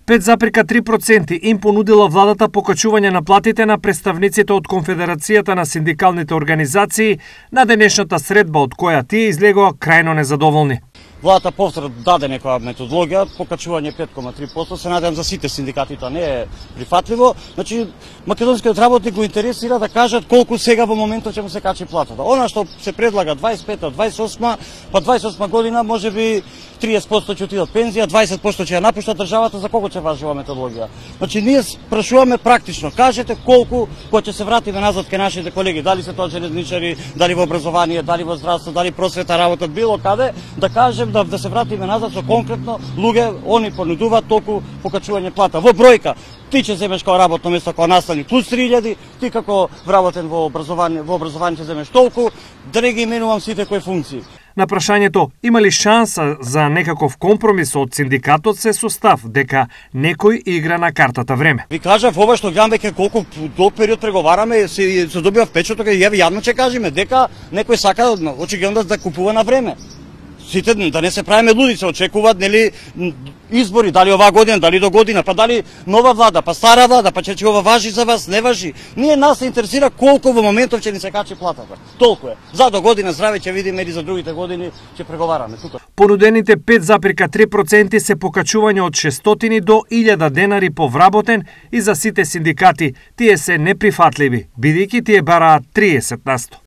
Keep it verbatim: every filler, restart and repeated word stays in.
пет запирка три проценти им понудила владата покачување на платите на представниците од Конфедерацијата на синдикалните организации на денешната средба, од која тие излегоа крајно незадоволни. Владата повтора даде некоја методологија, покачување пет зарез три проценти, се надевам за сите синдикати тоа не е прифатливо. Значи, македонскиот работник го интересира да кажат колку сега во моментот ќе му се качи платата. Она што се предлага дваесет и пета, дваесет и осма, па дваесет и осма година можеби триесет проценти ќе отидат пензија, дваесет проценти ќе ја напушта државата, за колку ќе важи ова методологија. Значи, ние прашуваме практично, кажете колку кога ќе се вратиме назад кај нашите колеги, дали се тоа железничари, дали во образование, дали во здравство, дали просвета работат било каде, да кажем да, да се вратиме назад со конкретно луѓе, они понудуваат толку покачување плата. Во бројка, ти ќе земеш како работно место како наставник плюс три илјади, ти како вработен во образование, во образование ќе земеш толку, да не ги именувам сите кои функции. На прашањето има ли шанса за некаков компромис од синдикатот се состав дека некој игра на картата време. Ви кажав ова што гледам дека колку долг период преговараме, се, се добива впечаток и јавно ќе кажеме дека некој сака очигледно да купува на време. Сите да не се правиме луди, се очекуваат нели избори, дали оваа година, дали до година, па дали нова влада, па стара влада, па че ова важи за вас, не важи. Ние нас се интересира колку во моментов ќе ни се качи платата. Толку е. За до година здраве ќе видиме или за другите години ќе преговараме тука. Понудените пет запирка три проценти се покачување од шестстотини до илјада денари по вработен и за сите синдикати тие се неприфатливи, бидејќи тие бараат триесет на сто.